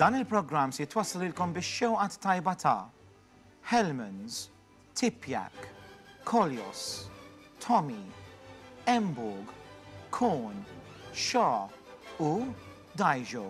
Dan il-programm se jitwassal lilkom bix-xewqat tajba ta' Hellmann's, Tipjak, Kolios, Tommy, Emborg, Korn, Shaw u Daijo.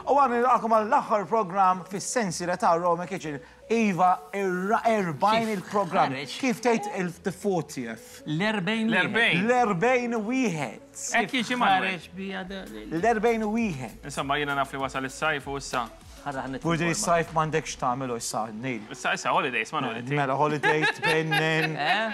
U għan nilqakom għall-aħħar program fis-sensi ta' Roma Kitchen. Iva, 40 il-program. Kif tgħid il-40th? L-40 L-40. L-40 wieħed. Hekk jiġi Manuel. L-40 wieħed. Insomma, jiena naf li wasal is-sajf u issa. Budi s-sajf m'għandekx tagħmel issa, Neil. Issa issa holidays, Manuel. inti. Mela holidays tbennen,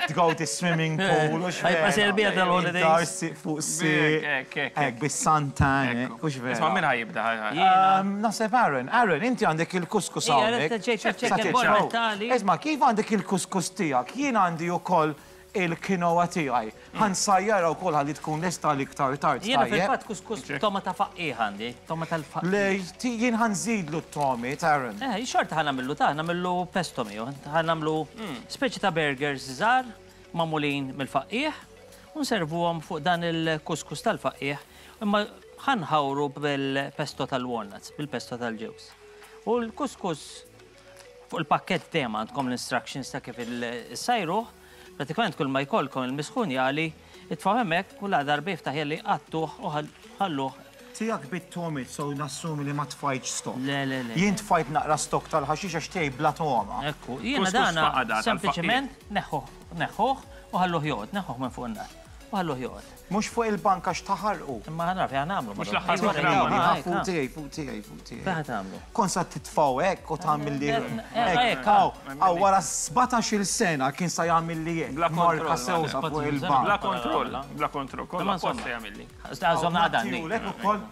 tgawdi swimming pool u x'vera. Ħajba serbija tal-holidays. Dar si fuq si. Hekk, hekk, hekk. Hekk, bis-santan, Ekku. hux vera. Isma' min ħa jibda? ħaj, ħaj. Naħseb Aaron, Aaron, inti għandek il-kuskus Ija, hawnhekk. rrid ġejt Sa ċekk tgħid il-borra xaw. tali. Isma' kif għandek il-kuskus tiegħek? Jien għandi wkoll il-quinoa tiegħi. Ħa nsajjarha wkoll ħalli tkun lesta għal iktar tard, Jiena tajjeb? fil-fatt kuskus b'toma ta' faqqiegħ għandi, toma tal-faqqiegħ. Le, jien ħa nżidlu t-tomiet, Aaron. Eh, xorta ħa nagħmillu ta' nagħmillu pesto miegħu. Ħa nagħmlu speċi ta' burgers żgħar magħmulin mill-faqqiegħ u nservuhom fuq dan il-kuskus tal-faqqiegħ imma ħa nħawru bil-pesto tal-walnuts, bil-pesto tal-ġewż. U l-kuskus fuq il-pakkett dejjem għandkom l-instructions ta' kif issajruh, pratikament kull ma jkollkom il-misħun jagħli, itfgħu hemmhekk u la darba jiftaħ jagħli għattuh u ħalluh. Tiegħek bit-togħmiet so nassumi li ma tfajtx stock. Le, le, le. Jien tfajt naqra stock tal-ħaxix għax tiegħi bla togħma. Ekku, jiena Kuskus dana faqada tal-faqqiegħ. sempliċement neħħuh, neħħuh u ħalluh joqgħod, neħħuh minn fuq in-nar. U ħalluh joqgħod. Mhux fuq il-bank għax taħarqu. Imma ħa nara fejn ħa nagħmlu. Mhux l-aħħar Ejwa, programm, ejwa, ħa, ejwa, Fuq tiegħi, fuq tiegħi, fuq tiegħi. Fejn ħa tagħmlu? Kont sa titfgħu hekk u tagħmel li Eh, hekk. Hawn, hawn wara 17-il sena kien sa jagħmel li hekk. Bla kontroll, Marka sewda fuq il-bank. Bla kontroll, bla kontroll. Kollha apposta jagħmilli. Żomna għadanni. Nattijulek ukoll.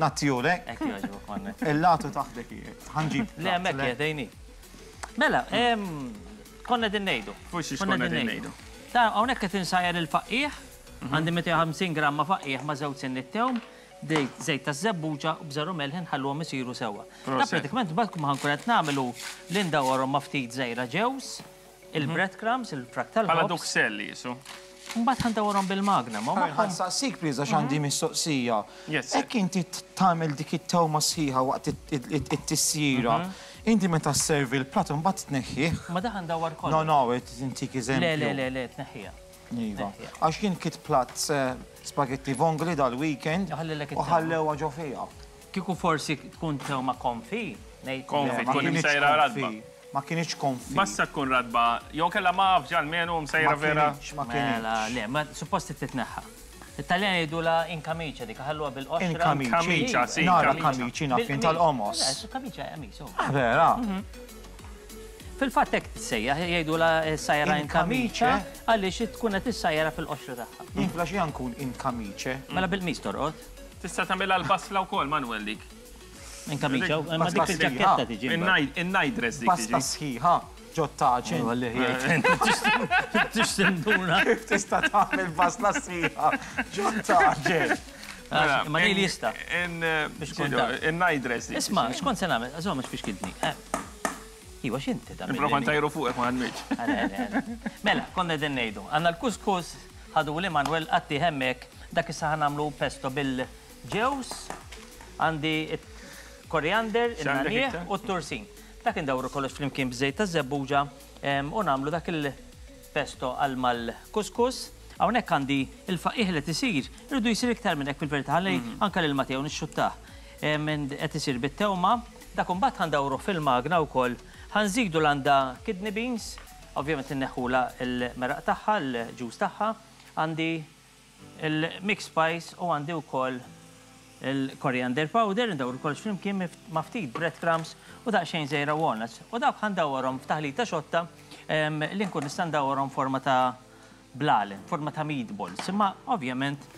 Nattijulek. Hekk jogħġbok, Manuel. Il-latu taħdek qiegħed. Ħa nġib. Le hemmhekk qiegħed għejni. Mela, konna qegħdin ngħidu. Fuq xiex konna qegħdin ngħidu. Ta' hawnhekk qed insajjar il-faqqiegħ, għandi 250 gramma faqqiegħ ma' żewġ sinniet tewm, żejt taż-żebbuġa u bżar u melħ inħalluhom isiru sewwa. Ta' pratikament mbagħad kull ma ħankun qed nagħmel hu li ndawwarhom ma' ftit żgħira ġewż, il-bread crumbs, il-frak tal-ħobż. Bħala duxelle qisu. Mbagħad ħa ndawwarhom bil-magna, ma Ħa nsaqsik please għax għandi mistoqsija. Yes sir. Hekk inti tagħmel dik it-tewma sħiħa waqt it-tisjira, inti meta sservi l-platt imbagħad tneħħih? Ma dak ħa ndawwar kollox. No, no, qed intik eżempju. Le, le, le, le, tneħħiha. Iva. Għax jien kilt platt spaghetti vongole dal-weekend u ħallewha ġo fiha. Kieku forsi tkun tewma konfi, ngħid. Konfi, tkun imsejra ratba. Ma kinitx konfi. Basta tkun ratba, jew kellha mgħaffġa almenu msejra vera. Ma kinitx, ma kinitx. Mela, le, ma suppost trid titneħħa. It-Taljani jgħidulha in camicia dik, iħalluha bil-qoxra. In camicia. Camicia, sì. Nara camici naf jien tal-qomos. Le, camicia hija qamis, hu. Ah, vera? Fil-fatt hekk tissejjaħ, jgħidulha sajra in camicia għaliex tkun qed issajjarha fil-qoxra tagħha. Jien filgħaxija nkun in camice. Mela bil-qmis torqod. Tista' tagħmilha l-basla wkoll, Manuel, dik. In camicia, imma dik fil-ġakketta tiġi. In-night dress dik tiġi. Pasta sħiħa ġo taġin. Tix tinduna. Kif tista' tagħmel basla sħiħa ġo taġin? Ma li jista'. In-night dress dik. Isma' x'kont se nagħmel? Żomm għax fiex kiltni. Iva x'inti tagħmel? Nipprova ntajru fuqek ma ħadmitx. Mela, konna qegħdin ngħidu. Għandna l-kuskus, ħaduli Manuel qattih hemmhekk, dak issa ħa nagħmlu pesto bil-ġewż, għandi koriander, in-nagħniegħ u t-tursin. Dak indawru kollox flimkien b'żejt taż-żebbuġa u nagħmlu dak il-pesto għal mal-kuskus. Hawnhekk għandi il-faqih li qed isir, irridu jsir iktar minn hekk fil-verità ħalli anke lil Mateo nixxuttah. Qed isir bit-tewma, dak imbagħad ħa ndawruh fil-magna wkoll. Ħa nżidu l-għandha kidney beans, ovvjament inneħħulha l-meraq tagħha, l-ġus tagħha. Għandi l-mixed spice u għandi wkoll il-coriander powder, indawru kollox flimkien ma' ftit bread crumbs u daqsxejn żgħira walnuts. U dawk ħa ndawwarhom f'taħlita xotta li nkun nista' ndawwarhom forma ta' blalen, forma ta' meatballs. Imma ovvjament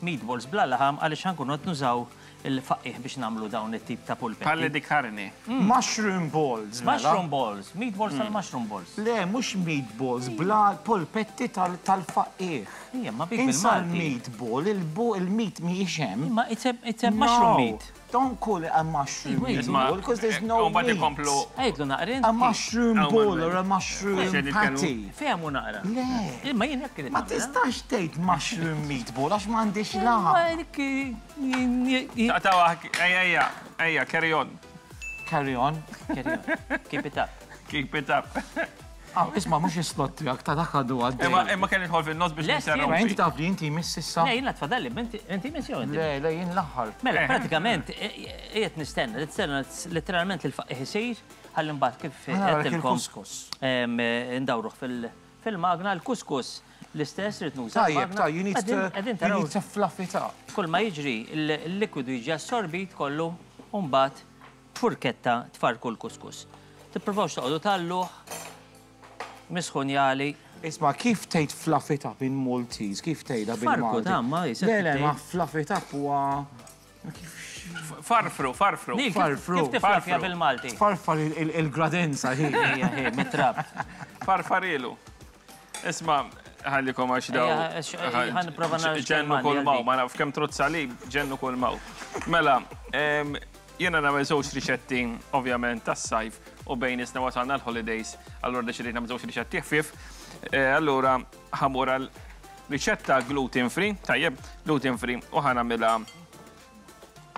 meatballs bla laħam għaliex ħa nkunu qed nużaw il-faqqiegħ biex nagħmlu dawn it-tip ta' pulpetti. Palle di carne. Mushroom balls, mela. Mushroom balls, meatballs tal-mushroom balls. Le, mhux meatballs, bla polpetti tal-faqqiegħ. Ija, ma bik Insa bil-Malti. l-meatball, il-meat mhijiex hemm. Imma it's a, it's a mushroom meat. Don't call it a mushroom Wait, meatball, because there's no U mbagħad meat. ikomplu Għidlu naqra A inti. mushroom Oh, ball Manuel. or a mushroom Mhux qed nitkellmu. patty. Fehmu naqra. Le. Imma jien hekk irid Ma nagħmel. tistax tgħid mushroom meatball għax m'għandix laħam. Ma dik Taqtaw ejja, ejja, ejja, carry on. Carry on. Carry on. Keep it up. Keep it up. Ah, isma' mhux is-slot tiegħek ta' dak għadu għaddej. Imma imma kelli nidħol fin-nofs biex Lest, Ma inti ninterrompi. taf li inti miss issa. Le, jiena tfadalli, inti inti miss jew inti? Le, le, jien l-aħħar. Mela, Eh. pratikament, qiegħed nistenna, nistenna letteralment il-faqih isir, ħalli mbagħad kif Ħa narak għedtilkom il-kuskus. ndawruh fil-magna l-kuskus l-istess rrid nuża. Tajjeb, l-magna. tajjeb, you need to, Qegħdin you taraw need to fluff it up. kull ma jiġri il-likwidu jiġi assorbit kollu u mbagħad b'furketta tfarku l-kuskus. Tippruvawx toqgħodu talluh misħunjali. Isma, kif tgħid fluff it up in Maltese? Kif tgħidha Farku, bil-Malti? ta' ma jisek Le, le, tgħid. ma fluff it up huwa Farfru, farfru. Nil, kif- Farfru. Kif tiflafja Farfru. bil-Malti? Tfarfar il-gradenza hi. Ejja, ej, mitrab. Farfarilu. Isma, ħallikom għax daw. Ejja, għax- ħa nipprova nara Ġennu x'kelma kull għandi maw, għaldi. ma naf kemm trozza li, ġennu kull maw. Mela, jiena nagħmel żewġ riċetti, ovvjament, tas-sajf u bejn isna wasalna l-holidays, allura deċidejt nagħmel żewġ riċetti ħfief. Allura ħamur għal riċetta gluten free, tajjeb, gluten free, u ħa nagħmilha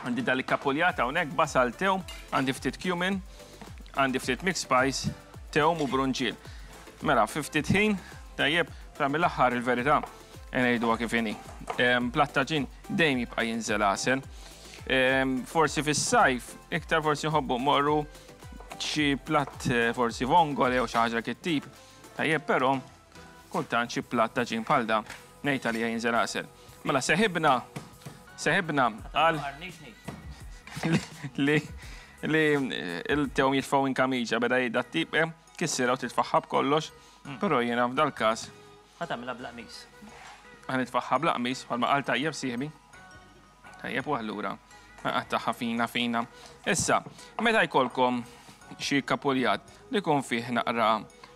għandi dal kapuljata hawnhekk, basal tewm, għandi ftit cumin, għandi ftit mixed spice, tewm u brunġiel. Mela, fi ftit ħin, tajjeb, fra mill-aħħar il-verità, ngħiduha kif inhi. Platt taġin dejjem jibqa' jinżel għasel. Forsi fis-sajf, iktar forsi nħobbu morru xi platt forsi vongole jew xi ħaġa kit tip. Tajjeb, però kultant xi platt taġin bħal da ngħid għalija jinżel għasel. Mela seħibna seħibna għal li li il-tewm jitfgħu in kamiġa beda jgħid tip kissira u titfaħħa b'kollox, però jiena f'dal-każ Ħa tagħmilha bla qmis. ħa nitfaħħa bla qmis bħalma qal tajjeb sieħbi. Tajjeb u allura naqattagħha fina fina. Issa, meta jkollkom xi kapuljat li jkun fih naqra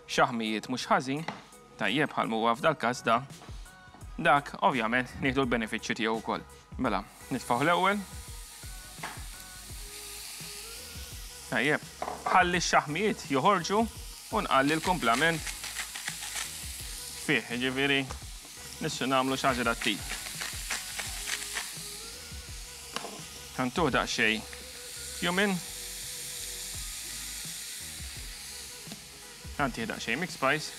xaħmijiet mhux ħażin, tajjeb bħal huwa f'dal-każ da, dak ovvjament nieħdu l-benefiċċju tiegħu wkoll. Mela, nitfgħu l-ewwel. Tajjeb, ħalli x-xaħmijiet joħorġu u nqalli l-kumplament fih, jiġifieri nissu nagħmlu xi ħaġa dat-tip. Ħantuh daqsxejn cumin. Ħantih daqsxejn mixed spice.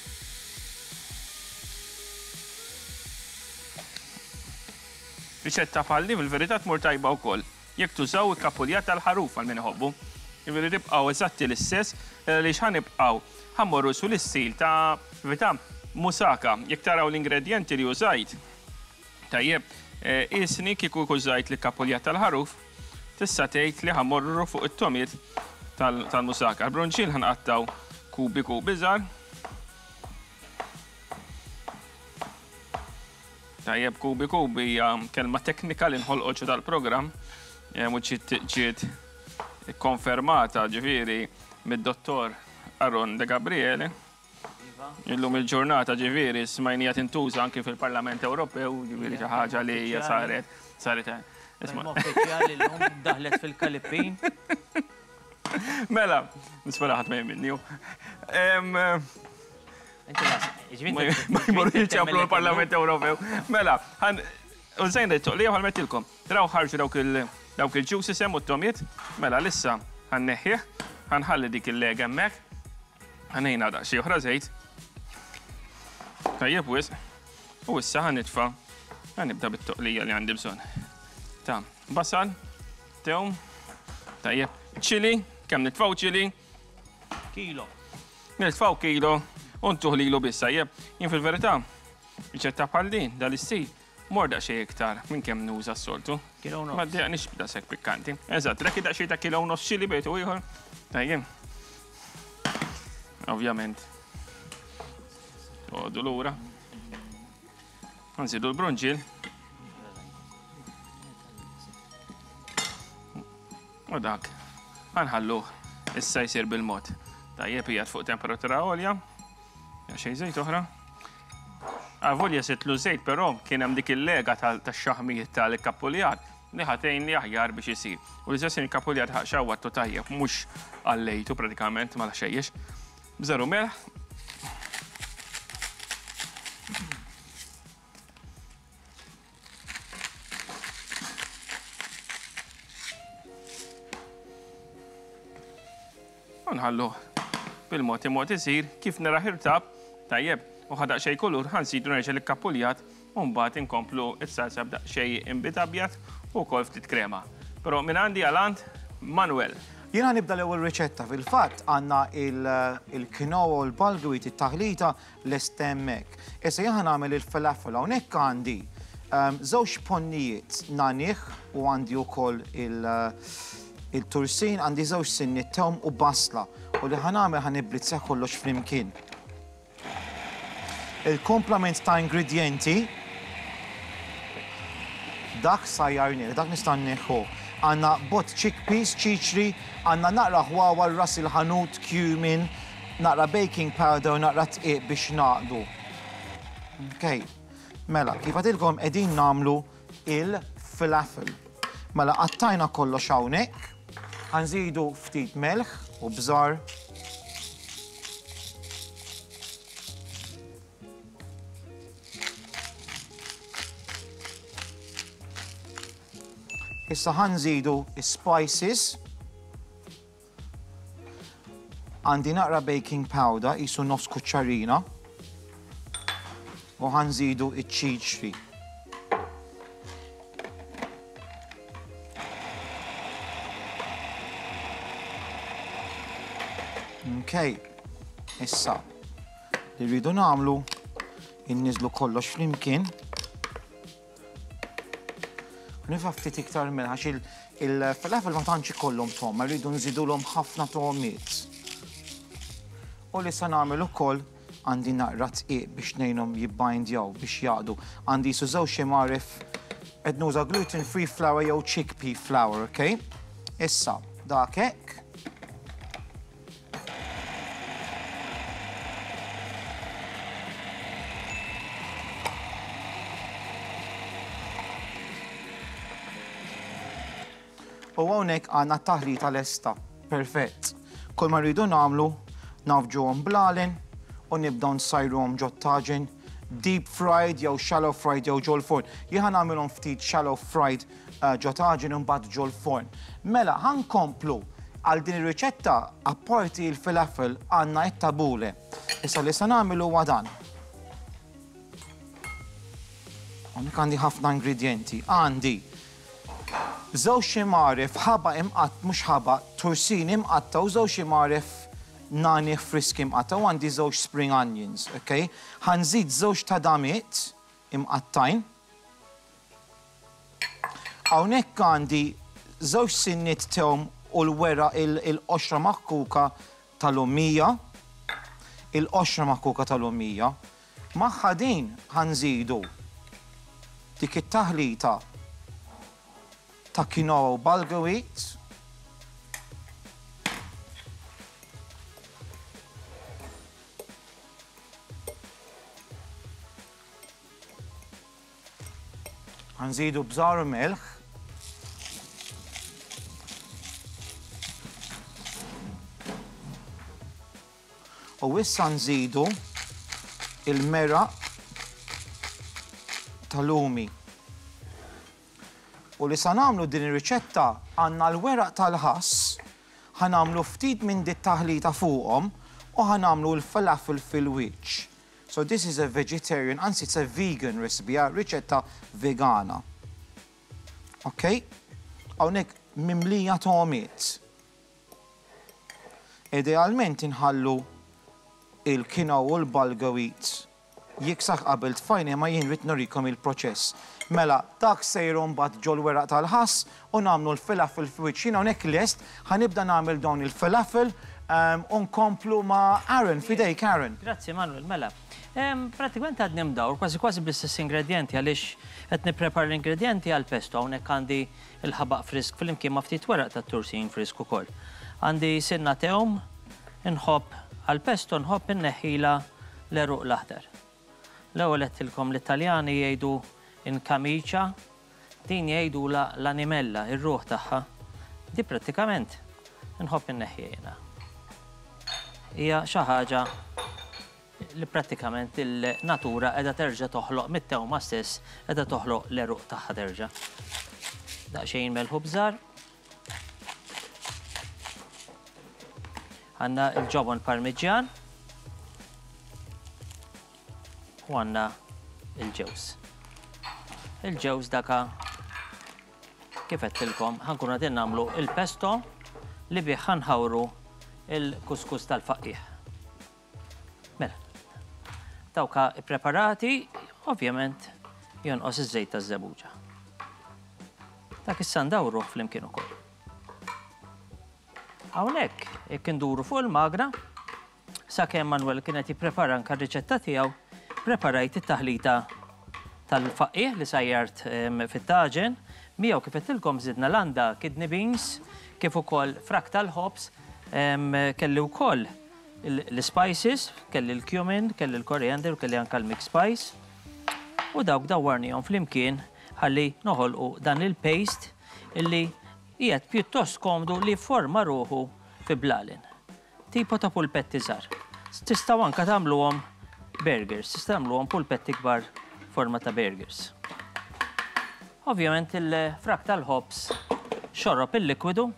Riċetta bħal din fil-verità tmur tajba wkoll jekk tużaw il-kapuljat tal-ħaruf għal min iħobbu. Jiġifieri tibqgħu eżatti l-istess għaliex ħa nibqgħu ħa mmorru su l-istil ta' verità musaka. Jekk taraw l-ingredjenti li użajt, tajjeb, isni kieku użajt l-kapuljat tal-ħaruf, tista' tgħid li ħa mmorru fuq it-tomiet tal-musaka. Il-bronċin ħa nqattgħu kubi kubi żgħar. Tajjeb, kubi kubi hija kelma teknika li nħolqot ġo dal-programm, u ġiet konfermata ġifieri mid-dottor Aaron De Gabriele. Illum il-ġurnata ġifieri smajnija tintuża anki fil-Parlament Ewropew, ġifieri xi ħaġa li hija saret, saret. Isma'. Kelma uffiċjali llum daħlet fil-Kalippin. Mela, nispera ħadd ma jemminni. Inti las, ġifieri Ma jmorru jiċċamplu l-Parlament Ewropew. Mela, ħan użajna t-toqlija bħal mettilkom. Traw ħarġu dawk il-juices hemm u t-tomiet. Mela, lissa ħanneħħih, ħanħalli dik il-leg hemmhekk. Ħanejna daqsxejn oħra żejt. Tajjeb wisq. U issa ħanitfa' ħanibda bit-toqlija li għandi bżonn. Ta' basal, tewm, tajjeb, ċili, kemm nitfgħu ċili? Kilo. Nitfgħu kilo u ntuh lilu biss, tajjeb. Jien fil-verità, riċetta bħal din, dal-istil, mor daqsxejn iktar minn kemm nuża s-soltu. Kilo u nofs. Ma ddejjaqnix b'daqshekk pikkanti. Eżatt, dak daqsxejn ta' kilo u nofs ċili bejt u ieħor. Tajjeb. Ovvjament. Toqgħodu lura. Nżidu l-brunġiel. U dak ħa nħalluh issa jsir bil-mod. Tajjeb qiegħed fuq temperatura għolja. Xejn żejt oħra. Avolja sitlu żejt però kien hemm dik il-lega tax-xaħmijiet tal-kappuljat li ħatejn li aħjar biex isir. U l-istess il-kappuljat ħaq xawwattu tajjeb mhux għallejtu pratikament ma xejjex. Bżaru melħ. U nħalluh bil-mod imod isir kif nara ħirtab tajjeb u ħa daqsxejn kulur ħa nsidu nerġa' l-ikkapuljat u mbagħad inkomplu s-salsa b'daqsxejn inbid abjad u wkoll ftit krema. Però minn għandi għal għand Manuel. Jiena nibda l-ewwel riċetta. Fil-fatt għandna il-quinoa u l-bulgur it-taħlita lest hemmhekk. Issa jien ħa nagħmel il-falafel hawnhekk għandi ehm, żewġ ponnijiet nanih u għandi wkoll il-tursin, għandi żewġ sinni tewm u basla u li ħa nagħmel ħa nibblizzja kollox flimkien. Il-komplament ta' ingredjenti dak sajjarnieh, dak nista' nneħħuh. Għandna bott chickpeas, ċiċri, għandna naqra ħwawar, ras il-ħanut, cumin, naqra baking powder u naqra dqiq biex ngħaqdu. Ok. Mela, kif għadilkom qegħdin nagħmlu il-falafel. Mela qattajna kollox hawnhekk. Ħa nżidu ftit melħ u bżar. Issa ħa nżidu spices. Għandi naqra baking powder, qisu nofs kuċċarina. U ħa nżidu iċ-ċiċri. Okay. Issa, li rridu nagħmlu inniżlu kollox flimkien. Nifa ftit iktar minn għax il-falafel ma tantx ikollhom tom, rridu nżidulhom ħafna tomiet. U li sa nagħmel ukoll għandi naqra tqiq biex ngħinhom jibbindjaw biex jaqdu. Għandi su żewġ imgħaref qed nuża gluten free flour jew chickpea flour, ok? Issa, dak hekk. U hawnhekk għandna t-taħlita lesta. Perfett. Kull ma rridu nagħmlu nafġuhom blalen u nibdew nsajruhom ġot-taġen deep fried jew shallow fried jew ġol-forn. Jien ħa nagħmilhom ftit shallow fried ġo taġen u mbagħad ġol-forn. Mela, ħa nkomplu għal din ir-riċetta apparti l-falafel għandna t-tabule. Issa li se nagħmel huwa dan. Hawnhekk għandi ħafna ingredjenti. Għandi żewġ imgħaref ħaba imqatt mhux ħaba, tursin imqatta u żewġ imgħaref nani friski imqatta u għandi żewġ spring onions, okay? Ħa nżid żewġ tadamiet imqattajn. Hawnhekk għandi żewġ sinniet tewm u l-weraq il-qoxra maħkuka ta' lumija, il-qoxra maħkuka ta' lumija. Magħha din ħa nżidu dik it-taħlita ta' quinoa u bulgur wheat. Ħanżidu bżar u melħ. U issa nżidu il-meraq tal-lumi. U li sa nagħmlu din ir-riċetta għandna l-weraq tal-ħass, ħa nagħmlu ftit minn dit taħlita fuqhom u ħa nagħmlu l-falafel fil-wiċċ. So this is a vegetarian, anzi it's a vegan recipe, hija riċetta vegana. Ok? Hawnhekk mimlija togħmiet. Idealment inħallu il-quinoa u l-bulgur wheat jiksaħ qabel tfajna imma jien rrid nurikom il-proċess. Mela, dak sejru mbagħad ġol-weraq tal-ħass u nagħmlu l-falafel f'wiċċ. Jien hawnhekk lest, ħa nibda nagħmel dawn il-falafel u nkomplu ma' Aaron, f'idejk Aaron. Grazzi Manuel, mela. Pratikament għadni mdawr, kważi kważi bl-istess ingredjenti għaliex qed nipprepara l-ingredjenti għal pesto hawnhekk għandi il-ħabaq frisk flimkien ma' ftit weraq tat-tursin frisk ukoll. Għandi sinna tewm, inħobb għal pesto nħobb inneħħila l-għeruq l-aħdar. L-ewwel għedtilkom li t-Taljani jgħidu in camicia, din jgħidulha l-animella, ir-ruħ tagħha. Di prattikament inħobb inneħħiha jiena. Hija xi ħaġa li prattikament il-natura qiegħda terġa' toħloq mit-tewma stess, qiegħda toħloq l-għeruq tagħha terġa'. Daqsxejn melħ u bżar. Għandna l-ġobon parmiġġjan u għandna il-ġewż. Il-ġewż daka kif għedtilkom ħankunu qegħdin nagħmlu il-pesto li bih ħanħawru il-kuskus tal-faqqiegħ. Mela, dawka ippreparati, ovvjament jonqos iż-żejt taż-żebbuġa. Dak issa ndawruh flimkien ukoll. Hawnhekk, jekk induru fuq il-magra, sakemm Manuel kien qed jipprepara anke r-riċetta tiegħu, preparajt it-taħlita tal-faqqiegħ li sajjart fit-taġen, miegħu kif għedtilkom żidna landa kidney beans, kif ukoll frak tal-ħobż, kelli wkoll l-spices, kelli l-cumin, kelli l-coriander u kelli anke l-mixed spice. U dawk dawwarnihom flimkien ħalli noħolqu dan il-paste illi qiegħed pjuttost komdu li jifforma ruħu fi blalen. Tipo ta' pulpetti żgħar. Tistgħu anke tagħmluhom burgers, tistgħu tagħmluhom pulpetti kbar forma ta' burgers. Ovvjament il-frak tal-ħobż xorob il-likwidu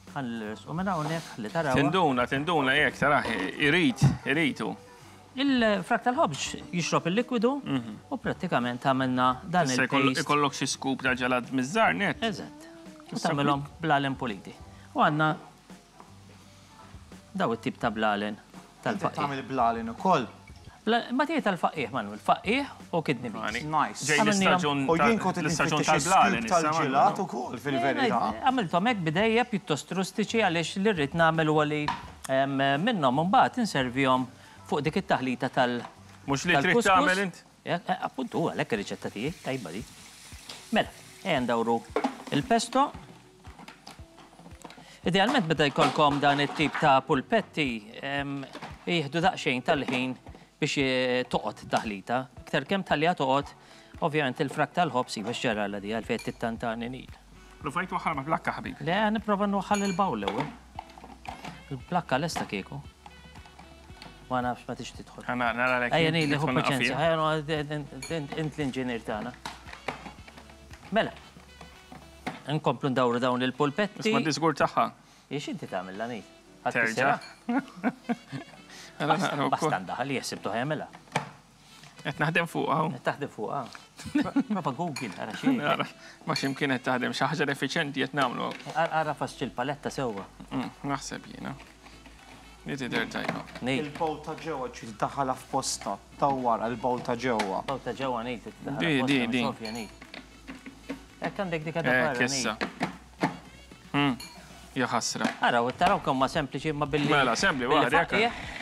Ħalli minn hawnhekk ħalli taraw. Tinduna, tinduna jekk taraħ, irid, iridu. Il-frak tal-ħobż jixrob il-likwidu mhm. u prattikament għamilna dan il Ikollok xi scoop ta' ġelat miż-żar net. Eżatt. U tagħmilhom blalen puliti. U għandna daw it-tip ta' blalen tal-faqih. Tagħmel blalen ukoll. Ma tiegħi tal-faqih, Manuel, faqih u kidney beans. Nice. Ġej l-istaġun U jien kont l-istaġun tal-blalen tal-ġelat ukoll fil-verità. Għamilthom hekk bidejja pjuttost rustiċi għaliex li rrid nagħmel huwa li minnhom imbagħad inservihom fuq dik it-taħlita tal- Mhux li trid tagħmel int? Appuntu, għalhekk ir-riċetta tiegħi tajba di. Mela, ejja ndawru il-pesto. Idealment meta jkollkom dan it-tip ta' pulpetti, jieħdu daqsxejn tal-ħin biex eh, toqgħod taħlita. Iktar kemm tħalliha toqgħod, ovvjament il-frak tal-ħobż iva x'ġarala di għalfejn tittantani nil. Provajt waħħal ma' plakka ħabib. Le, nipprova nwaħħal il-bawl l-ewwel. Il-plakka lesta kieku. Ma nafx ma tix tidħol. Ejja nili ħu paċenzja, int l-inġinier tagħna. Mela, Nkomplu ndawru dawn il-pulpetti. Ma diżgur tagħha. Ix inti tagħmel l Terġa'. Basta ndaħal jeħsib tuħ jagħmilha. Qed naħdem fuqha. Qed taħdem fuqha. Prova Google ara xi. Ma x'imkien qed taħdem xi ħaġa effiċjenti qed nagħmlu. Ara fasċi l-paletta sewwa. Mm, naħseb jiena. Li tidher tajba. Il-bowl ta' ġewwa trid tiddaħħalha f'posta tawwara l-bowl ta' ġewwa. Bowl ta' ġewwa ngħid tiddaħħalha f'posta. Di, di, di. Hekk għandek dik għadha barra. Issa. Hmm, ja ħasra. Araw, taraw kemm ma sempliċi ma billi. Mela, sempli waħda jekk.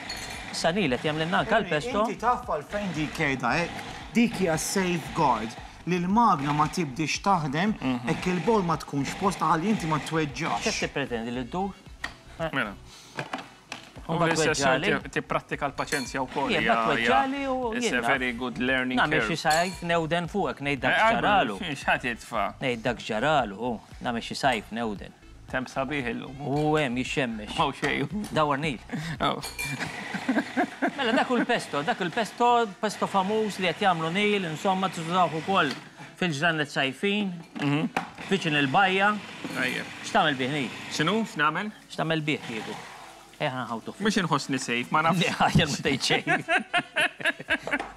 Issa nilet jagħmlilna anke l-pesto. Inti taf għalfejn dik qiegħda hekk. Dik hija safeguard li l-magna ma tibdix taħdem mhm. hekk il-bol ma tkunx posta ħalli inti ma tweġġax. X'qed tippretendi li ddur? Mela. U l-istess tipprattika l-paċenzja wkoll. Jien tweġġali u It's a very good learning curve. Nagħmel xi sajf newden fuqek ngħid dak eh, ġaralu. X'ħadd jitfa'? Ngħid dak ġaralu, nagħmel xi sajf newden. Temp sabiħ illum. U hemm jixxemmex. Hawn xejn. Dawar nil. Mela dak il-pesto, dak il-pesto, pesto famuż li qed jagħmlu nil, insomma tużawh ukoll fil-ġranet sajfin, mhm. viċin il-bajja. X'tagħmel bih nil? X'inhu? X'nagħmel? X'tagħmel bih kieku? Ejja ħa nħawtuh. Mhux inħossni safe, ma nafx. Le, aħjar ma tgħid xejn.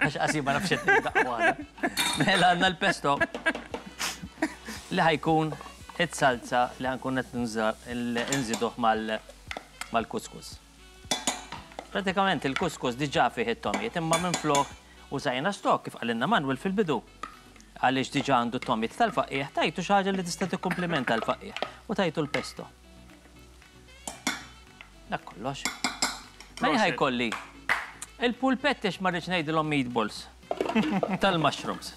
Għax qasi ma nafx qed nibda waħda. Mela għandna l-pesto li ħajkun it-salza li ħankun qed nżiduh mal-kuskus. Pratikament il-kuskus diġà fih it-tomiet imma minflok użajna stock kif qalilna Manuel fil-bidu. Għaliex diġà għandu t-tomiet tal-faqqiegħ tajtu xi ħaġa li tista' tikkumplimenta l-faqqiegħ u tajtu l-pesto. Dak kollox. Mela ħajkolli. Il-pulpetti għax ma rridx ngħidilhom meatballs tal-mushrooms.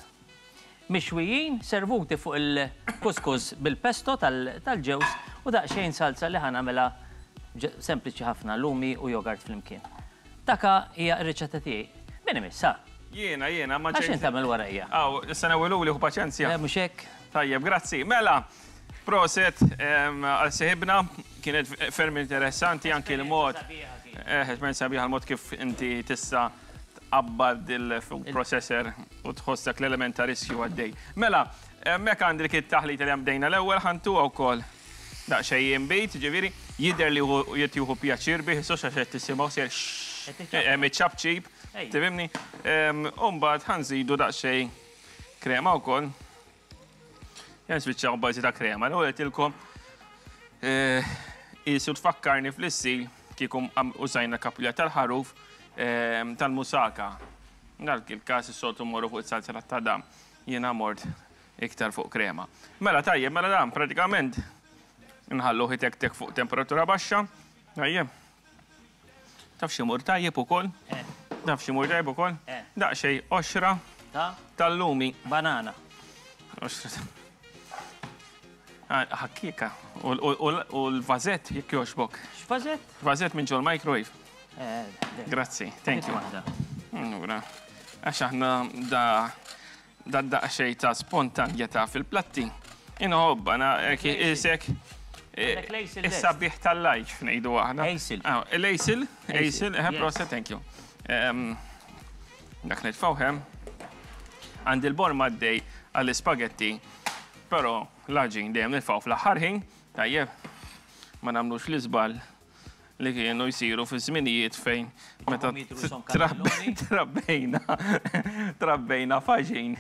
Mixwijin, servuti fuq il-couscous bil-pesto tal-ġewż u daqsxejn salza li ħa nagħmilha sempliċi ħafna, lumi u jogurt flimkien. Daka hija r-riċetta tiegħi. Min imiss, ha? Jiena, jiena, ma ġejt. Għax int tagħmel warajja. Aw, issa newwiluli ħu paċenzja. Eh, mhux hekk? Tajjeb, grazzi. Mela, proset għal sieħibna, kienet ferm interessanti anki l-mod. Eh, esperjenza sabiħa l-mod kif inti tista' tqabbad il-food processor u tħoss dak l-element ta' riskju għaddej. Mela, hemmhekk għandek it-taħlita li bdejna l-ewwel ħantuha wkoll daqsxejn inbid, ġifieri, jidher li qed jieħu pjaċir bih, issa għax qed tisimgħu sejjer hemm iċ-ċapċip, tifhimni? U mbagħad ħa nżidu daqsxejn krema wkoll. Jen spiċċaw bażi ta' krema. L-ewwel qedtilkom qisu tfakkarni fl-istil kieku użajna kappilla tal-ħaruf tal-musaka. Dak il-każ is-soltu mmorru fuq is-salsa tat-tadam. Jiena mort iktar fuq krema. Mela tajjeb, mela dan pratikament nħalluh itektek fuq temperatura baxxa. Tajjeb. Taf x'imur tajjeb ukoll? Eh. Taf x'imur tajjeb ukoll? Eh. Daqsxejn qoxra Ta' tal-lumi. Banana. Qoxra. Ah, ħakkieka. U l-vażett jekk jogħġbok. X'vażett? Vażett minn ġol-microwave. Eh, Grazzi, thank you. Allura, għax aħna da Da daqsxejn ta' spontanjetà fil-platti. Inħobbha, na isek is-sabiħ tal-life ngħidu aħna. Ejsil. L-ejsil, ejsil, eh, proset, thank you. Dak nitfgħu hemm. Għandi l-borma għaddej għall-ispagetti, però l-għaġin dejjem nitfgħu fl-aħħar ħin, tajjeb, ma nagħmlux l-iżball li kienu jsiru fi żminijiet fejn meta trabbejna trabbejna faġin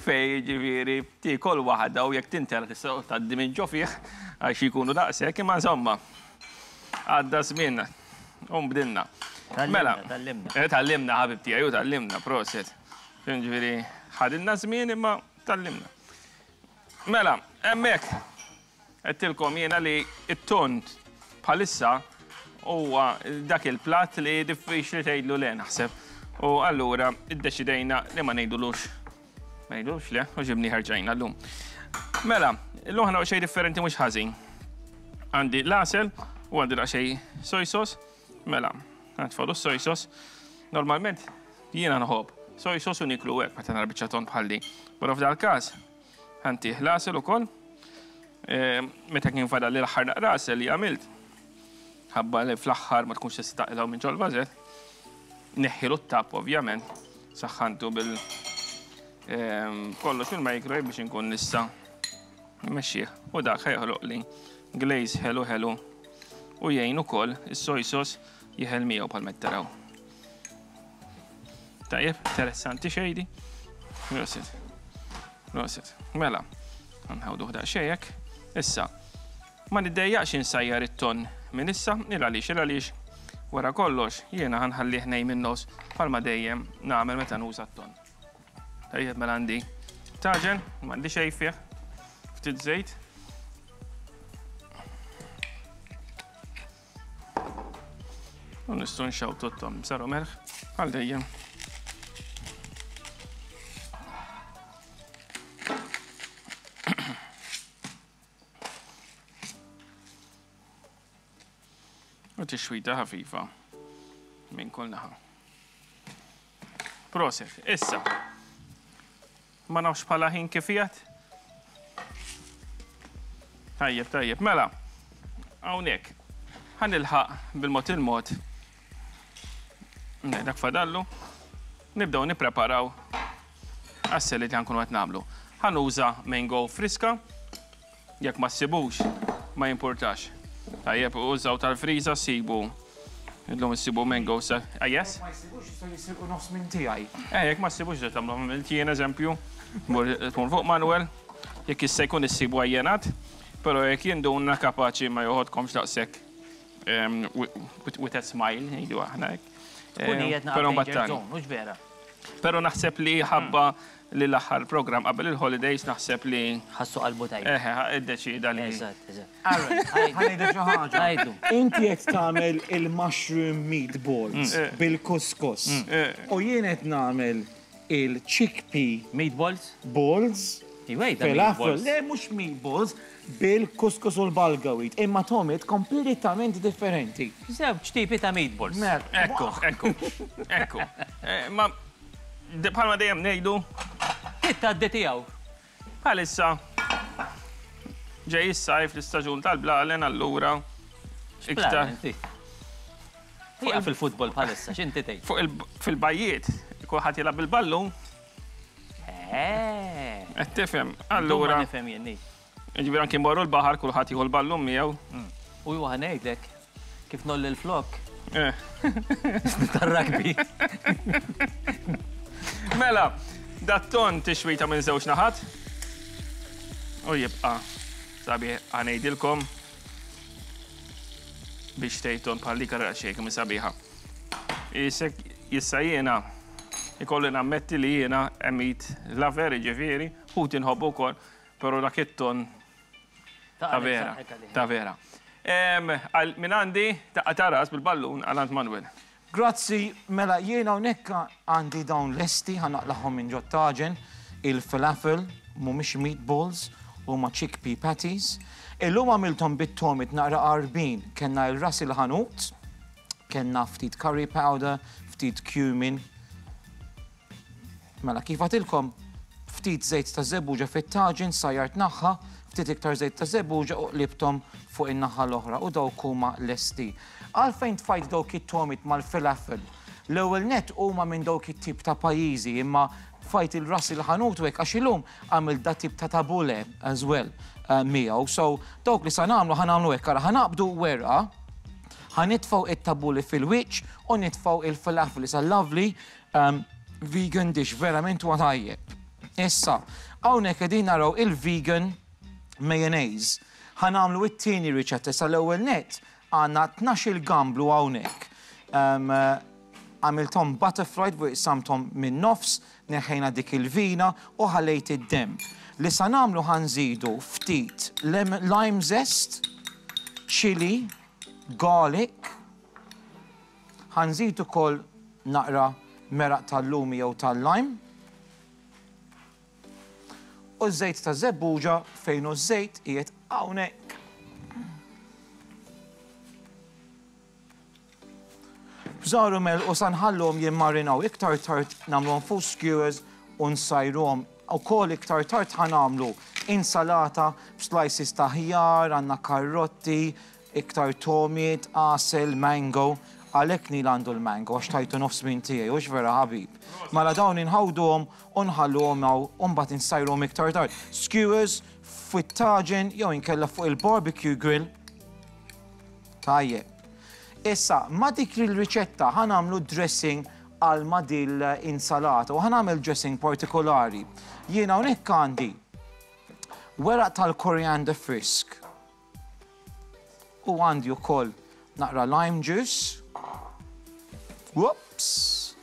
fej ġifieri tiekol waħda u jekk tintela tista' tgħaddi minn ġo fih għax jkunu daqshekk imma insomma għadda żmien u nbdilna. Mela, tgħallimna. Eh, tgħallimna ħabib tiegħi u tgħallimna, proset. Ġifieri ħadilna żmien imma tgħallimna. Mela, hemmhekk Għedtilkom jiena li t-tond bħalissa huwa dak il-platt li diffiċli tgħidlu le naħseb. U allura iddeċidejna li ma ngħidulux ma ngħidulux le u ġibni ħerġajna llum. Mela, illum ħana xejn differenti mhux ħażin. Għandi l-għasel u għandi daqsxejn soy sauce. Mela, nitfgħu soy sauce. Normalment jiena nħobb soy sauce u niklu hekk meta nara biċċa tond bħal din. Però f'dal-każ Ħantih l-għasel ukoll. Meta kien fadal l-aħħar naqra għasel li għamilt, ħabba li fl-aħħar ma tkunx tista' taqilgħu minn ġol-vażett, neħħilu t-tap ovvjament, saħħantu bil kollox fil-microwave biex inkun nista' mmexxih. U dak ħa joħloqli glaze ħelu ħelu u jgħin ukoll is-soy sauce jeħel miegħu bħalma qed taraw. Tajjeb, interessanti xejdi. Prosit. Prosit. Mela, nħawduh daqsxejn hekk. Issa, ma niddejjaqx insajjar it-ton minn issa, il għaliex, il għaliex wara kollox jiena ħanħallih nej minn nos bħalma dejjem nagħmel meta nuża t-ton. Tajjeb mela għandi taġen, m'għandi xejn fih, ftit żejt. U nistgħu nxawtu t-tom b'żar u melħ bħal dejjem. U tixwita ħafifa minn kull naħa. Proset, issa. Ma nafx bħala ħin kif qiegħed. Tajjeb, tajjeb, mela. Hawnhekk. Ħa nilħaq bil-mod il-mod. Dak fadallu. Nibdew nippreparaw għas-salad li ħankunu qed nagħmlu. Ħa nuża mango friska. Jekk ma ssibux, ma jimpurtax. Tajjeb, użaw tal-friża ssibu. Illum issibu mango sa. Ah, yes? Ma jsibux jistgħu jisirqu nofs minn tiegħi. Eh, jekk ma ssibux ġed tagħmlu għamilt jien eżempju, tmur fuq Manuel, jekk jista' jkun issibu għajjenat, però jekk jinduna kapaċi ma joħodkomx daqshekk with a smile, ngħidu aħna hekk. Tkun qiegħed naqra mhux vera. Però naħseb li ħabba. li l-aħħar programm qabel il-holidays naħseb li. Ħassu qalbu tajjeb. Eħe, iddeċieda li. Eżatt, eżatt. Aaron, ħa ngħidlek xi ħaġa. Għidlu. Inti qed tagħmel il-mushroom meatballs bil-couscous. U jien qed nagħmel il-chickpea Meatballs? balls. Iwa, jgħidha Falafel. meatballs. Le, mhux meatballs, bil-couscous u l-bulgur wheat. Imma togħmiet kompletament differenti. Żewġ tipi ta' meatballs. Mela. Ekku, ekku, ekku. Eh, Ma bħalma dejjem ngħidu, Tgħaddi tiegħu. bħalissa ġej is-sajf l-istaġun tal-blalen allura iktar Hija fil-futbol bħalissa, x'inti tgħid? fuq il fil-bajjiet kulħadd jilgħab bil-ballun, Eh. qed tifhem. Allura Allura, nifhem jien. jiġifieri anke morru l-baħar kulħadd jieħu l-ballun miegħu. U ju ngħidlek kif nolli l-flok Eh. tar-rugby. Mela, dat-ton tixwita minn żewġ naħat. U jibqa' sabiħ ħa ngħidilkom biex tgħid bħal dik ara xejn kemm sabiħa. Isek issa jiena ikolli nammetti li jiena a meat lover, jiġifieri, ħut inħobbu wkoll, però dak it-ton ta' vera, ta' vera. Minn għandi daqqa ta' ras bil-ballun għal għand Manuel. Grazzi, mela jiena hawnhekk għandi dawn lesti ħa naqlagħhom minn ġot-taġen, il-falafel, mhumiex meatballs, huma chickpea patties. Illum għamilthom bit-tomit naqra qarbin, kellna il-ras il-ħanut, kellna ftit curry powder, ftit cumin. Mela kif għatilkom, ftit żejt ta' żebbuġa fit-taġen, sajjart naħħa, ftit iktar żejt ta' żebbuġa u qlibthom fuq in-naħa l-oħra u dawk huma lesti. Għalfejn tfajt dawk it-tomit mal-falafel? L-ewwel net huma minn dawk it-tip ta' pajjiżi imma tfajt il-ras il-ħanut u hekk għax illum għamil da tip ta' tabule as well miegħu. So dawk li sa nagħmlu ħa nagħmlu hekk, ara ħa naqbdu werqa, ħa nitfgħu it-tabule fil-wiċċ u nitfgħu il-falafel. It's a lovely vegan dish, verament huwa tajjeb. Issa, hawnhekk qegħdin naraw il-vegan mayonnaise. Ħa nagħmlu it-tieni riċetta, issa l-ewwel net għandna 12 gamblu hawnhekk. Għamilthom butterflied u qsamthom minn nofs, neħħejna dik il-vina u ħallejt id-dem. Li sa nagħmlu ħa nżidu ftit lime zest, chili, garlic, ħa nżidu ukoll naqra meraq tal-lumi jew tal-lime. U żejt ta' żebbuġa fejn u żejt qiegħed hawnhekk. Bżaru mel u sa nħallhom jimmarinaw iktar tard nagħmluhom fuq skewers u nsajruhom. Ukoll iktar tard ħa nagħmlu insalata b'slices ta' ħjar, għandna karrotti, iktar tomiet, għasel, mango. Għalhekk Neil għandu l-mango għax tajtu nofs minn tiegħi, hux vera ħabib. Mela dawn inħawduhom u nħalluhom hawn u mbagħad insajruhom iktar tard. Skewers fit-taġen jew inkella fuq il-barbecue grill. Tajjeb. Issa, ma dik il-riċetta ħa nagħmlu dressing għal ma dil insalata u ħa nagħmel dressing partikolari. Jiena hawnhekk għandi weraq tal-coriander frisk u għandi wkoll naqra lime juice. Whoops!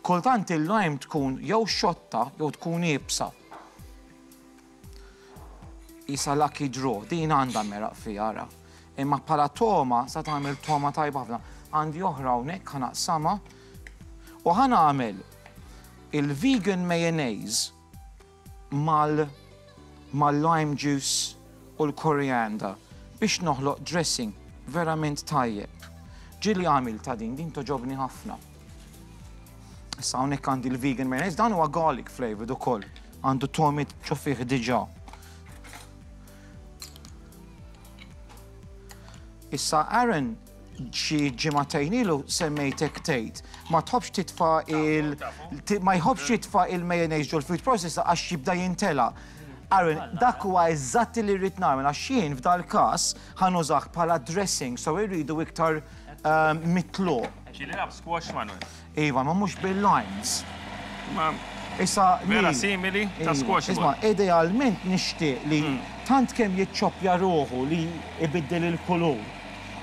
Kultant il-lime tkun jew xotta jew tkun iebsa. Isa lucky draw, din għandha meraq fiha ara. Imma bħala toma sa tagħmel toma tajba ħafna. Għandi oħra hawnhekk ħa naqsamha u ħa nagħmel il-vegan mayonnaise mal-lime juice u l-coriander biex noħloq dressing verament tajjeb. Ġieli għamil ta' din, din togħġobni ħafna. Issa hawnhekk għandi l-vegan mayonnaise, dan huwa garlic flavored ukoll. Għandu tomit ġo fih diġà. Issa Aaron xi ġimagħtejn ilu semmejtek tgħid ma tħobbx titfa' il ma jħobbx jitfa' il-mayonnaise ġol food processor għax jibda jintela. Aaron, dak huwa eżatt li rrid nagħmel għax jien f'dal każ ħa nużah bħala dressing, so irridu iktar mitluq. Ġieli lab squash Manuel. Iva, ma mhux bil-limes. Ma Issa vera Neil, simili ta' Iva, squash. Isma', idealment nixtieq li tant kemm jiċċoppja ruħu li ibiddel il-kulur.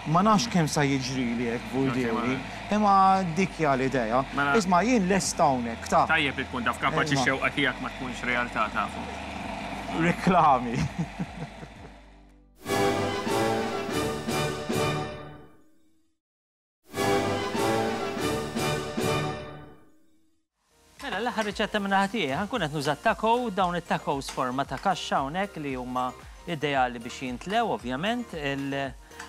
Ma nafx kemm sa jiġrili hekk Vuldieri, imma dik hija l-idea. Isma' jien lest hawnhekk, ta. Tajjeb li tkun taf kapaċi x-xewqa tiegħek ma tkunx realtà tafu. Reklami. Mela, l-aħħar riċetta minn naħa tiegħi, ħankun qed nuża taco, dawn it-tacos forma ta' kaxxa hawnhekk li huma ideali biex jintlew ovvjament,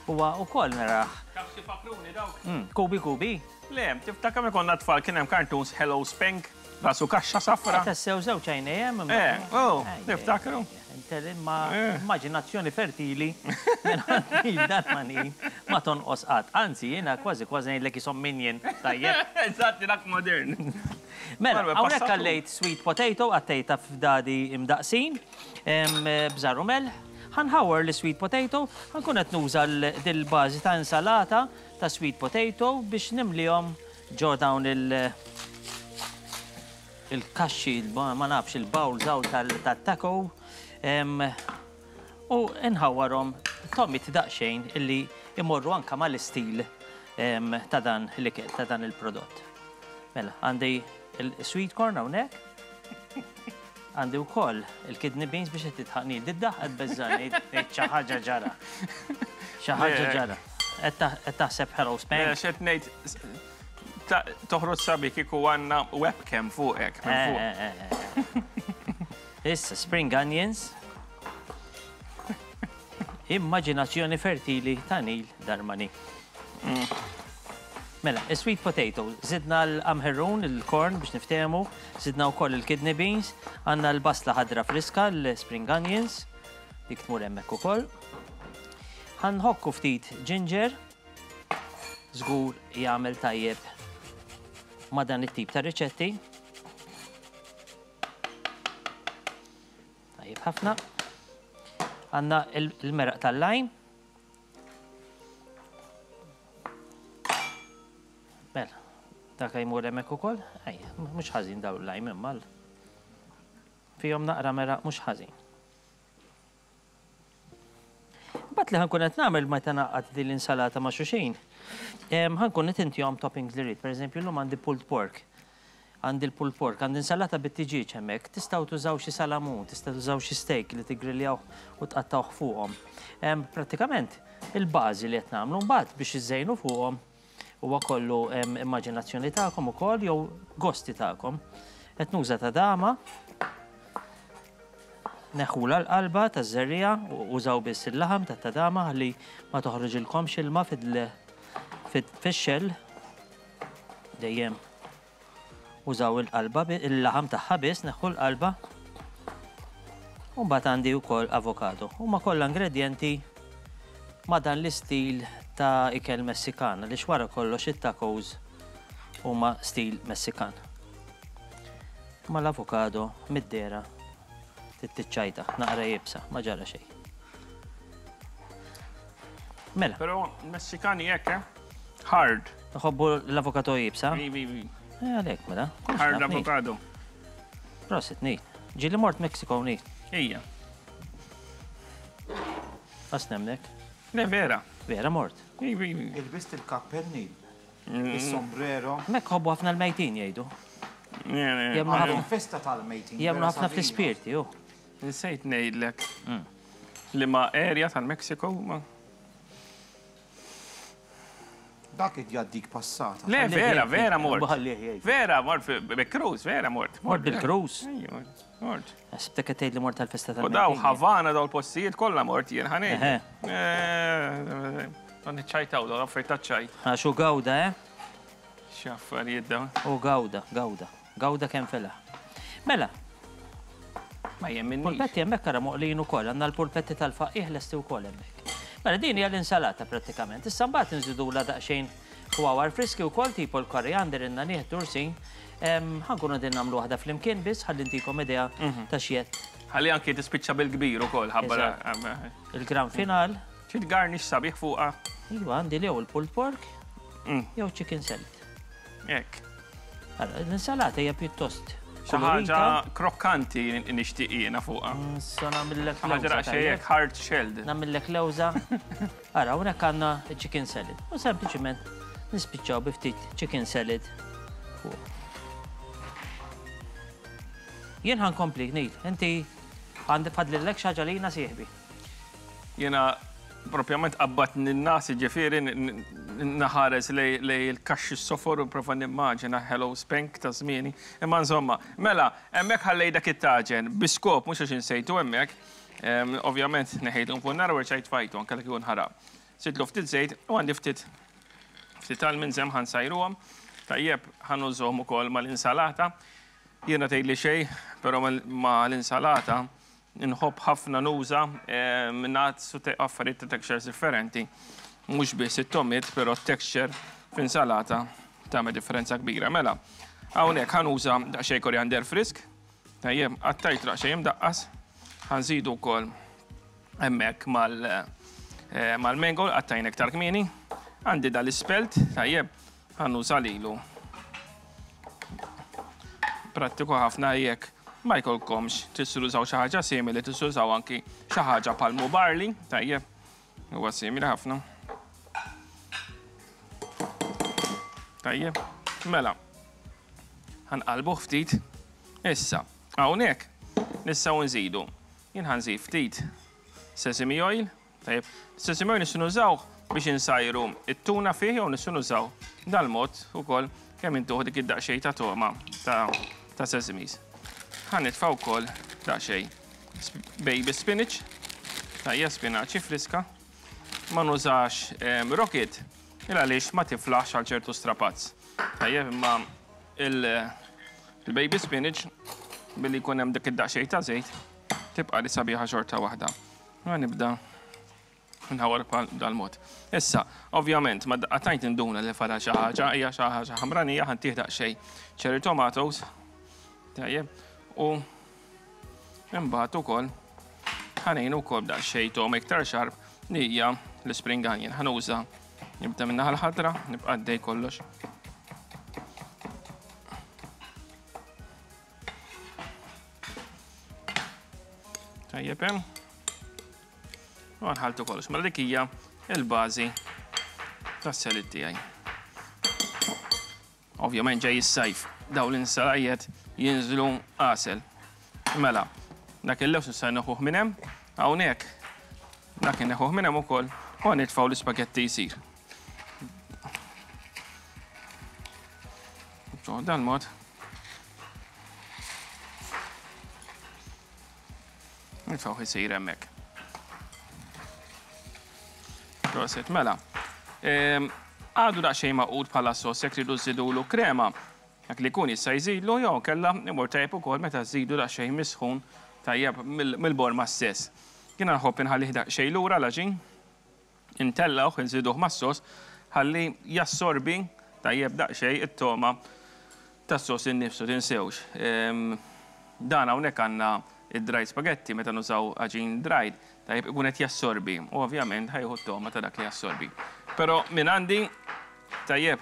huwa wkoll narah. Taf xi fakruni dawk? Kubi kubi? Le, tiftakar meta konna tfal kien hemm cartoons Hello Spank, rasu kaxxa safra. Tassew żewġ għajnejn hemm. Eh, oh, niftakru. Imma immaġinazzjoni fertili minn Darmanin ma tonqos qatt. Anzi, jiena kważi kważi ngħidlek qishom minion, tajjeb? Eżatt, dak modern. Mela, hawnhekk għallejt sweet potato, għattejtha f'dadi imdaqqsin, bżar u melħ. Ħa nħawwar l-sweet potato, ħa nkun qed nuża dil-bażi ta' insalata ta' sweet potato biex nimlihom ġo dawn il- il-kaxxi, ma nafx, il-bowls hawn tat-taco u nħawwarhom tomit daqsxejn illi imorru anka mal-istil ta' dan l-ikel, ta' dan il-prodott. Mela, għandi il-sweet corn hawnhekk. Għandi wkoll il-kidney beans biex qed titħaqni. Diddaħ qed beżżani, ngħid xi ħaġa ġara. Xi ħaġa ġara. Qed taħseb hello Spank. X'qed ngħid Toħroġ sabi kieku għandna webcam fuqek. Eh, eh, eh, Issa, spring onions. Immaġinazzjoni fertili ta' Neil Darmani. Mela, sweet potato, zidna l-amherrun, il-corn biex niftehmu, zidna wkoll il-kidney beans, għandna l-basla ħadra friska, l-spring onions, dik tmur hemmhekk ukoll. Ħanħokku ftit ginger, Żgur jagħmel tajjeb ma' dan it-tip ta' riċetti. Tajjeb ħafna. Għandna il-meraq tal-lajm. Mela, dak jmur hemmhekk ukoll. Ejja, mhux ħażin dawn il-lajm imma fihom naqra meraq mhux ħażin. Imbagħad li ħankun qed nagħmel meta ngħaqqad din l-insalata ma' xulxin, ħankun qed intihom toppings li rrid. Pereżempju llum għandi pulled pork. Għandi l-pulled pork, għandi insalata bit-tiġieġ hemmhekk. Tistgħu tużaw xi salamun, tistgħu tużaw xi steak li tiggrilljawh u tqattgħuh fuqhom. Prattikament il-bażi li qed nagħmlu mbagħad biex iżżejnu fuqhom Huwa kollu immaġinazzjoni tagħkom ukoll jew gosti tagħkom. Qed nuża ta' dama. Neħħula l-qalba taż-żerriegħa u użaw biss il-laħam tat-tadama ħalli ma toħroġilkomx ilma fix-xell. Dejjem Użaw il-qalba, il-laħam tagħha biss, neħħu l-qalba. U mbagħad għandi wkoll avokado. Huma kollha ingredjenti ma' dan l-istil ta' ikel Messikan, għaliex wara kollox it-tacos huma stil Messikan. Ma l-avokado mid-dera tittiċċajta, naqra jibsa, ma ġara xejn. Mela. Però Messikani hekk, eh? Hard. Iħobbu l-avokado iebsa? Ivi, ivi. Eh, għalhekk mela. Hard avokado. Prosit, ni. Ġili mort Mexico, ni. Ija. Għas nemnek. Le, vera. Vera mort. Ivi, ivi. Il-bist il-kappell, ni. Il-sombrero. Mek ħobbu ħafna l-mejtin jgħidu. Jemnu ħafna. Festa tal-mejtin. Jemnu ħafna fl-ispirti, ju. Nsejt ngħidlek. Mm. Li ma area tal-Mexico ma. Dak id jgħaddik passata. Le, vera, vera mort. Vera, mort bil-cruise, vera mort. Mort bil-cruise? Mort. Sibtek qed tgħid li mort tal-festa tal U daw Havana daw l-postijiet kollha mort jien ħanej. Eh, dan iċċajtaw daw affarijiet taċ-ċajt. Għax u gawda, eh? X'affarijiet dawn. U gawda, gawda. Gawda kemm felaħ. Mela. Ma jemminniex. Pulpetti hemmhekk ara moqlijin ukoll, għandna l-pulpetti tal-faqih lesti wkoll hemmhekk. Mela din hija l-insalata prattikament. Issa mbagħad inżidulha daqsxejn ħwawar friski wkoll tipo l-koriander, in-nagħniegħ, tursin. Ħa nkunu qegħdin nagħmlu waħda flimkien biss ħalli ntikom idea ta' x'qed. Ħalli anki tispiċċa bil-kbir ukoll ħabba. Il-gran final. Xi tgarnish sabiħ fuqha? Iva, għandi jew il-pulled pork jew chicken salad. Hekk. Allora, l-insalata hija pjuttost. Xi ħaġa krokkanti nixtieq jiena fuqha. Issa nagħmillek lewża. Ħaġa daqsxejn hard shelled. Nagħmillek lewża. Ara, hawnhekk għandna chicken salad. U sempliċement nispiċċaw bi ftit chicken salad fuq. Jien ħa nkompli, Neil. Inti għandi fadlillek xi ħaġa lina sieħbi. Jiena propjament qabbatni n-nas, jiġifieri naħares lej il-kaxxi s-sofor u nprova nimmaġina Hello Spank ta' żmieni. Imma insomma, mela, hemmhekk ħallejt dak it-taġen bi skop mhux għax insejtu hemmhekk. Ovvjament neħejtu minn fuq in-nar u rġajt tfajtu anke li kieku nħaraq. Żidtlu ftit żejt u għandi ftit ftit almonds hemm ħa nsajruhom. Tajjeb, ħa nużhom ukoll mal-insalata. Jiena tgħidli xejn, però mal-insalata Inħobb ħafna nuża nuts u affarijiet ta' textures differenti. Mhux biss it-togħmiet, però t-texture f'insalata tagħmel differenza kbira. Mela, hawnhekk ħa nuża daqsxejn koriander frisk, tajjeb, qattajtu daqsxejn imdaqqas, ħa nżidu wkoll hemmhekk mal-mango li qattajna iktar kmieni. Għandi dal-ispelt, tajjeb, Ħa nuża lilu. Prattiku ħafna jekk ma jkollkomx tistgħu tużaw xi ħaġa simili, tistgħu tużaw anki xi ħaġa palmu barley, tajjeb. Huwa simili ħafna. Tajjeb, mela. Ħanqalbuh ftit. Issa, hawnhekk nistgħu nżidu. Jien ħanżid ftit sesame oil, Tajjeb, sesame oil nistgħu nużawh biex insajru it-tuna fih jew nistgħu nużaw dal-mod ukoll kemm intuħ dik id-daqsxejn ta' togħma ta' sesames. Ħa nitfa' wkoll daqsxejn baby spinach, tajjeb spinaċi friska. Ma nużax ehm, rocket il għaliex ma tiflaħx għal ċertu strapazz. Tajjeb imma il-baby spinach billi jkun hemm dik id-daqsxejn ta' żejt tibqa' li sabiħa xorta waħda. Ma nibda nħawar bħal dal-mod. Issa, ovvjament, ma daqqa tajt induna li fadal xi ħaġa, hija xi ħaġa ħamranija ħantih daqsxejn cherry tomatoes. Tajjeb. U imbagħad ukoll ħanejn ukoll daqsxejn tom iktar xarb li hija l-spring onion. Ħanuża nibda minn naħa l-ħadra, nibqa' għaddej kollox. Tajjeb hemm. U nħaltu kollox. Mela dik hija il-bażi tas-salad tiegħi. Ovvjament ġej is-sajf, dawn l-insalajiet jinżlu għasel. Mela, dak il-lews nista' neħuh minn hemm, hawnhekk dak neħuh minn hemm ukoll u nitfgħu l-ispagetti jsir. Dan mod. Nitfgħu isir hemmhekk. Proset, mela. Ehm, għadu daqsxejn maqud bħala sos jekk tridu żidulu krema. Dak li jkun jista' jżidlu jew kella imur tajjeb ukoll meta żidu daqsxejn misħun tajjeb mill-borma stess. Jiena nħobb inħallih daqsxejn lura l-għaġin. Intellgħuh, inżiduh mas-sos ħalli jassorbi tajjeb daqsxejn it-togħma tas-sos innifsu, tinsewx. Dan hawnhekk għandna id-dried spaghetti meta nużaw għaġin dried, tajjeb ikun qed jassorbi u ovvjament ħa jieħu t-togħma ta' dak li jassorbi. Però minn għandi tajjeb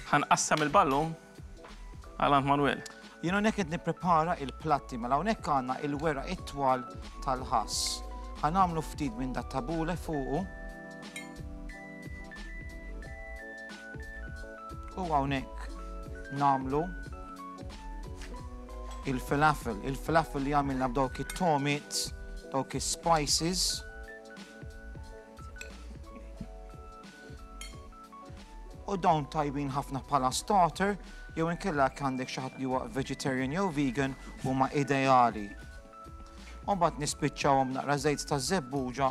ħa nqassam il-ballun għal għand Manuel. Jien hawnhekk qed nipprepara il-platti, mela hawnhekk għandna il-weraq it-twal tal-ħass. Ħa nagħmlu ftit minn dat tabule fuqu. U hawnhekk nagħmlu il-falafel, il-falafel li għamilna b'dawk it-tomit, dawk is-spices. U dawn tajbin ħafna bħala starter jew inkella jekk għandek xi ħadd li huwa vegetarian jew vegan huma ideali. U mbagħad nispiċċawhom naqra żejt ta' żebbuġa.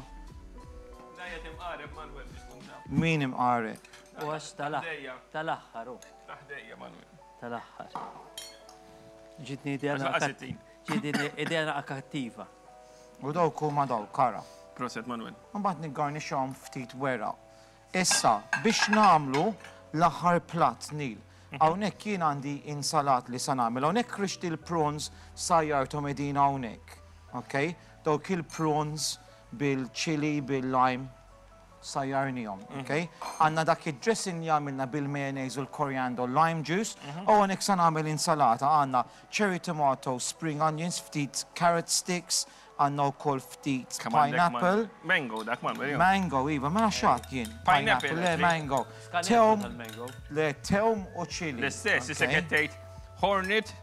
Dajja timqareb Manuel biex tkun taf. Min imqareb? U għax tal-aħħar hu. Taħdejja Manuel. Tal-aħħar. Ġitni idea ġitni idea naqra kattiva. U dawk huma dawk, ara. Proset Manuel. Mbagħad niggarnixxhom ftit weraq. Issa, biex nagħmlu l-aħħar platt, Neil. Hawnhekk jien għandi insalat li sa nagħmel. Hawnhekk ħriġt il-prawns sajjarthom qegħdin hawnhekk. Ok? Dawk il-prawns bil-chili, bil-lime. sajjarnihom, ok? Għandna dak id-dressing li għamilna bil-mayonnaise u l-coriander lime juice, u hawnhekk sa nagħmel insalata għandna cherry tomato, spring onions, ftit carrot sticks, għandna wkoll ftit pineapple. Mango dak ma Mango, iva, mela x'għadt jien? Pineapple, le mango. Tewm, le tewm u chili. L-istess, issa qed tgħid hornet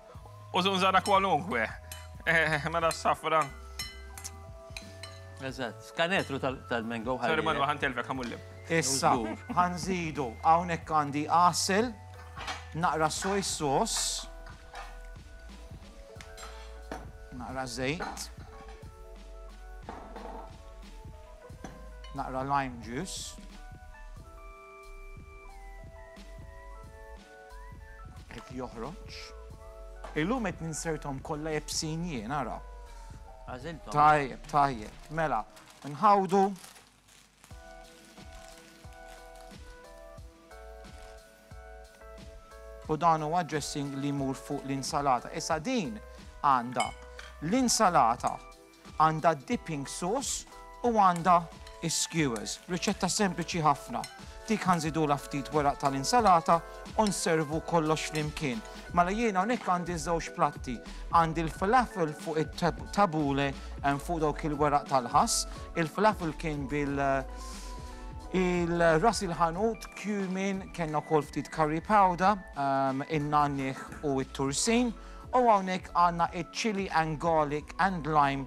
u żunżara kwalunkwe. Mela s-safra. Eżatt, skanetru tal-mango ħalli. Sorry, Manu, ħantelfek, ħamullim. Issa, ħanżidu, hawnhekk għandi għasel, naqra soy sauce, naqra żejt, naqra lime juice, Qed joħroġ. Illum qed ninserthom kollha iebsin jien, ara. Għażilthom. Tajjeb, tajjeb. Mela, nħawdu. U dan huwa dressing li jmur fuq l-insalata. Issa din għandha l-insalata Għandha dipping sauce u għandha is-skewers. Riċetta sempliċi ħafna. Dik ħa nżidulha ftit weraq tal-insalata u nservu kollox flimkien. Mela jiena hawnhekk għandi żewġ platti. Għandi l-falafel fuq it-tabule fuq dawk il-weraq tal-ħass. Il-falafel kien bil il-ras il-ħanut, cumin, kellna wkoll ftit curry powder, in-nanniħ u t-tursin. U hawnhekk għandna iċ-chili and garlic and lime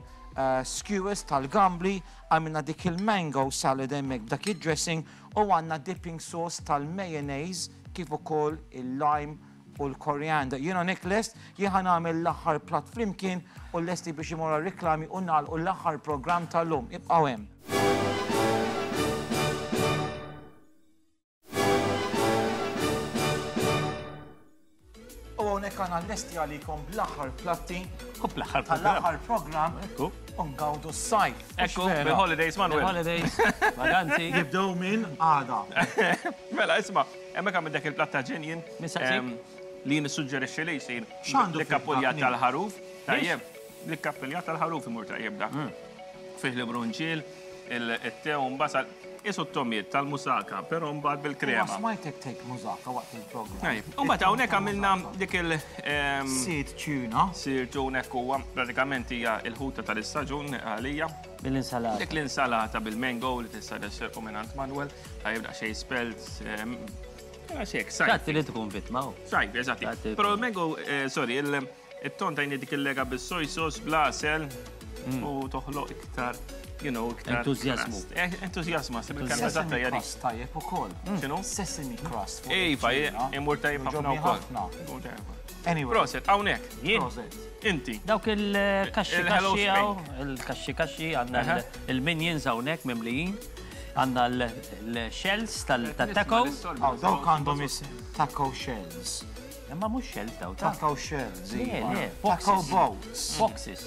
skewers tal-gambli, għamilna dik il-mango salad hemmhekk b'dak id-dressing u għandna dipping sauce tal-mayonnaise kif ukoll il-lime u l-coriander. Jien hawnhekk lest, jien ħa nagħmel l-aħħar platt flimkien u lesti biex imorru għar-riklami u nagħlqu l-aħħar programm tal-lum. Ibqgħu hemm. U hawnhekk għandna lesti għalikom bl-aħħar platti. U bl-aħħar tal-aħħar programm. Ekku. U ngawdu s-sajf. Ekku, bil-holidays, Manuel. Holidays, vaganzi. Jibdew minn għada. Mela, isma', hemmhekk għamil dak il-platt ta' ġenjin. Li nissuġġerixxi li jsir. X'għandu L-kappuljat tal-ħaruf. Tajjeb, l-kappuljat tal-ħaruf imur tajjeb dak. Fih l-brunġiel, il-te u mbasal. Isu t-tomiet tal-musaka, però mbagħad bil-krema. Ma smajtek tgħid musaka waqt il-programm. U mbagħad hawnhekk għamilna dik il- Seed tuna. Seed tuna hekk huwa pratikament hija l-ħuta tal-istaġun għalija. Bil-insalata. Dik l-insalata bil-mango li tista' tisserqu minn Manuel, tajjeb daqsxejn spelt. Għaxek, sajf. Tagħti li tkun vittma. Sajf, eżatti. Però l-mango, sorry, It-ton tajni dik il-lega bis-soy sauce bl-għasel mm. u toħloq iktar you know, iktar. Entuzjazmu. Eh, entuzjazmu, għasib il-kelma eżatta hija dik. Tajjeb ukoll. Mm. X'inhu? Sesame crust. Iva, imur tajjeb ħafna wkoll. Anyway. Proset, hawnhekk. Proset. Inti. Dawk il-kaxxi kaxxi il-kaxxi kaxxi għandna il-minions hawnhekk mimlijin. Għandna l-shells tal-taco. Dawk għandhom isem taco shells. Imma mhux shells daw ta' Taco shells. Le, le, Taco boxes. boats. Boxes.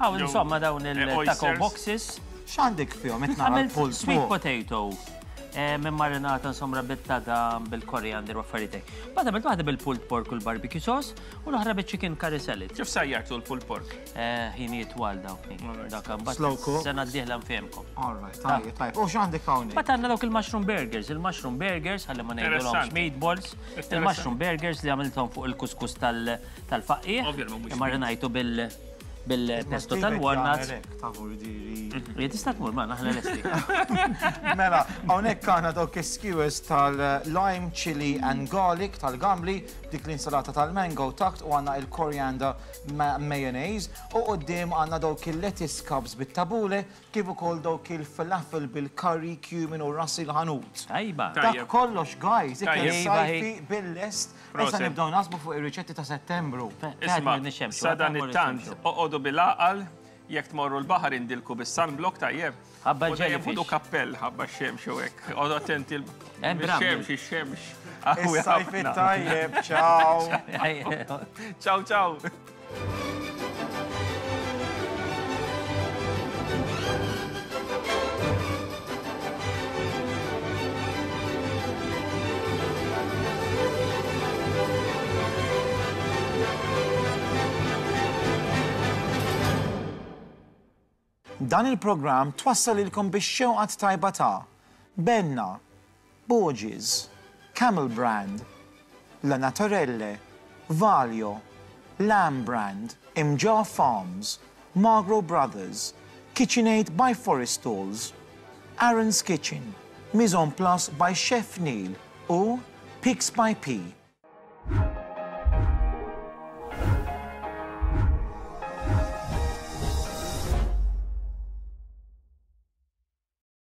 Għaw, insomma, dawn il-taco oysters. boxes. X'għandek fihom qed nara Għamilt l-pull sweet potato. eh, Minn marinata insomma bit-tadam, bil-koriander u affarijiet hekk. Mbagħad għamilt waħda bil-pulled pork u l-barbecue sauce u l-oħra bil-chicken curry salad. Kif sajjartu l-pulled pork? Eh, Ħinijiet twal dawk. Dak Slow mbagħad cook. sena d-dieħla nfehmkom. All right, tajjeb, tajjeb. U x'għandek hawnhekk? Mbagħad għandna dawk il-mushroom burgers, il-mushroom burgers ħalli ma ngħidulhomx Interessanti. meatballs, il-mushroom burgers li għamilthom fuq il-kuskus tal-faqqiegħ, Ovvja li mhumiex imma rinajtu bil bil-pesto tal-walnuts. Ta' vurdiri. Jien tista' tmur ma aħna lesti. Mela, hawnhekk għandna dawk is-skewers tal-lime, chili and garlic tal-gambli, dik l-insalata tal-mango takt u għandna il-coriander mayonnaise u quddiem għandna dawk il-lettuce cups bit-tabule kif ukoll dawk il-falafel bil-curry, cumin u ras il-ħanut. Tajba. Dak kollox, guys, ikel sajfi bil-lest. Issa nibdew naħsbu fuq ir-riċetti ta' Settembru. Isma' sadanittant, oqogħdu bil-għaqal, jekk tmorru l-baħar indilku bis-sunblock tajjeb. Ħabba U dejjem l-jellyfish. ħudu kappell ħabba x-xemx u hekk. Oqogħdu attenti Hemm bramble. x-xemx, ix-xemx. Qawwi Is-sajf ħafna. it-tajjeb, ciao. Ciao, ciao. Dan il-programm twassal lilkom bix-xewqa tajba ta' Benna, Borges, Camel Brand, La Naturelle, Valio, Lamb Brand, Imġarr Farms, Magro Brothers, KitchenAid by Forrestalls, Aaron's Kitchen, Mise en Place by Chef Neil u Pics by P.